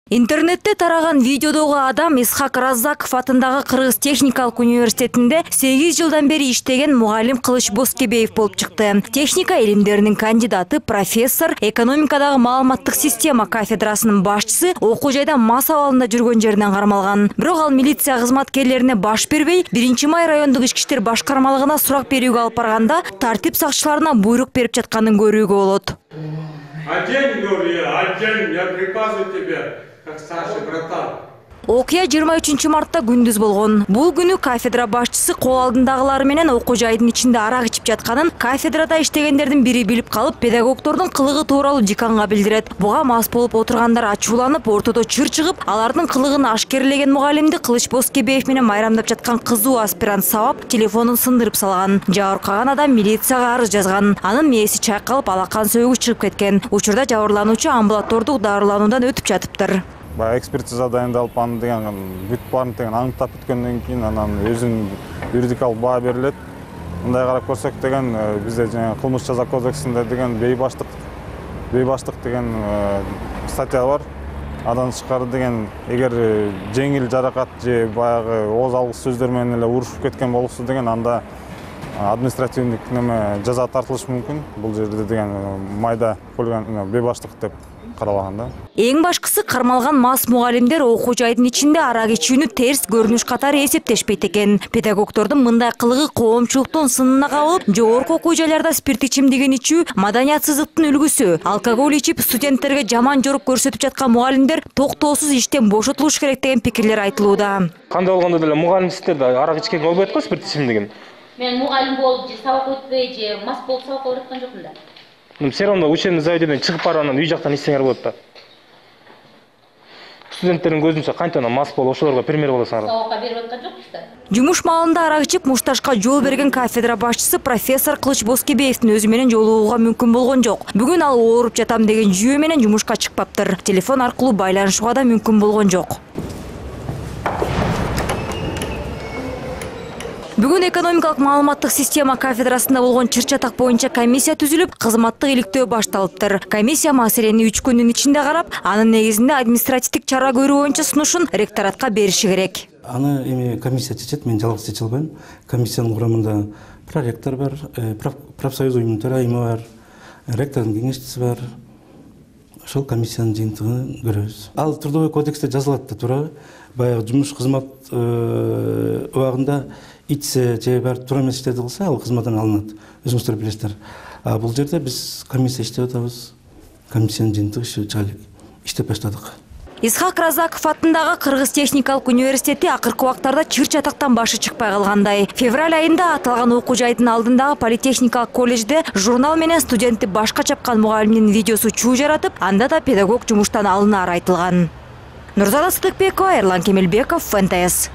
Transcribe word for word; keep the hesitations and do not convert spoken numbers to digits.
Интернетте тараган видеодогу адам Исхак Раззаков атындагы Кыргыз техникалык университетинде сегиз жылдан бери иштеген мугалим Кылыч Боскебеев болуп чыкты. Техника илимдеринин кандидаты, профессор, экономикадагы маалыматтык система кафедрасынын башчысы окуу жайда мас абалында жүргөн жеринен кармалган. Бирок ал милиция кызматкерлерине баш бербей, биринчи май райондук ички иштер башкармалыгына сурак берүүгө алып барганда, тартип сакчыларына буйрук берип жатканын көрүүгө болот. Одень, говорю, одень, я приказываю тебе. Как старший братан. Окуя жыйырма үчүнчү мартта күндүз болгон. Бул күнү кафедра башчысы кол алдындагылар менен окуу жайдын ичинде арак ичип жатканын кафедрада иштегендердин бири билип калып, педагогдордун кылыгы тууралуу деканга билдирет. Буга мас болуп отургандар ачууланып, ортодо чыр чыгып, алардын кылыгын ашкерлеген мугалимди Кылыч Боскебеев менен майрамдап жаткан кызуу аспирант сабап, телефонун сындырып салган. Жабыркаган адам милицияга арыз жазган. Анын мээси чайкалып, алакан сөөгү чыгып кеткен. Учурда жабырлануучу амбулатордук дарылануудан өтүп жатыптыр. Баягы экспертиза дайындалып, аны деген бүт баарын деген аңдап бүткөндөн кийин анан өзүнүн юридикалык баа берилет. Мындай карап көрсөк деген бизде жаңы кылмыш жаза кодексинде деген бейбаштык бейбаштык деген статья бар. Андан тышкары деген эгер жеңил жаракат же баягы ооз алгыс сөздөр менен эле урушуп кеткен болсо деген анда административдик неме жаза тартылышы мүмкүн. Бул жерде деген майда хулиган бейбаштык деп каралган да. Эң башкысы кармалган мас мугалимдер окуу жайдын ичинде арак ичүүнү терс көрүнүш катары эсептешпейт экен. Педагогдордун мындай кылыгы коомчулуктун сынына кабылып, жогорку окуу жайларда спирт ичимдигин ичүү маданиятсыздыктын үлгүсү. Алкоголь ичип студенттерге жаман жорук көрсөтүп жаткан мугалимдер токтоосуз иштен бошотулуш керек деген пикирлер айтылууда. Кандай болгондо деле мугалимдиктерде арак ичкенге болбойт го спирт ичимдигин. Мен мугалим болуп же сабак өтпөй же мас болуп сабак берип аткан жокмун да. Все равно учебный заведениеден чыгып барып анан үй жактан ичсеңер болот да. Студенттердин көзүнчө кантип анан мас болуп ошолорго пример болосуңар. Сабакка берип аткан жокпуз да. Жумуш маалында арак ичип мушташка жол берген кафедра башчысы профессор Кылыч Боскебеевдин өзү менен жолугууга мүмкүн болгон жок. Бүгүн ал ооруп жатам деген жүйө менен жумушка чыкпаптыр. Телефон аркылуу байланышууга да мүмкүн болгон жок. Бүгүн экономикалык маалыматтык система кафедрасында болгон чыр-чатак боюнча комиссия түзүлүп, кызматтык иликтөө башталыптыр. Комиссия маселени үч күндүн ичинде карап, анын негизинде административдик чара көрүү боюнча сунушун ректоратка бериши керек. Аны эми комиссия чечет, мен жалгыз чече албайм. Комиссиянын курамында проректор бар, профсоюз уюмунун төрайымы бар, ректордун кеңешчиси бар. Ошол комиссиянын жыйынтыгын көрөбүз. Ал трудовой кодексте жазылат да туура. Баягы жумуш кызмат убагында ичсе же бар туура эмес иштерди кылса, ал кызматтан алынат. Өзүңүздөр билесиздер. А бул жерде биз комиссия иштеп атабыз. Комиссиянын жыйынтыгы чыга элек. Иштеп баштадык. Исхак Раззаков атындагы Кыргыз техникалык университети акыркы убактарда чыр-чатактан башы чыкпай калгандай. Февраль айында аталган окуу жайдын алдындагы политехникалык колледжде журнал менен студентти башка чапкан мугалимдин видеосу чуу жаратып, анда да педагог жумуштан алынары айтылган. Нурзада Сыдыкбекова, Эрлан Кемелбеков, эн тэ эс.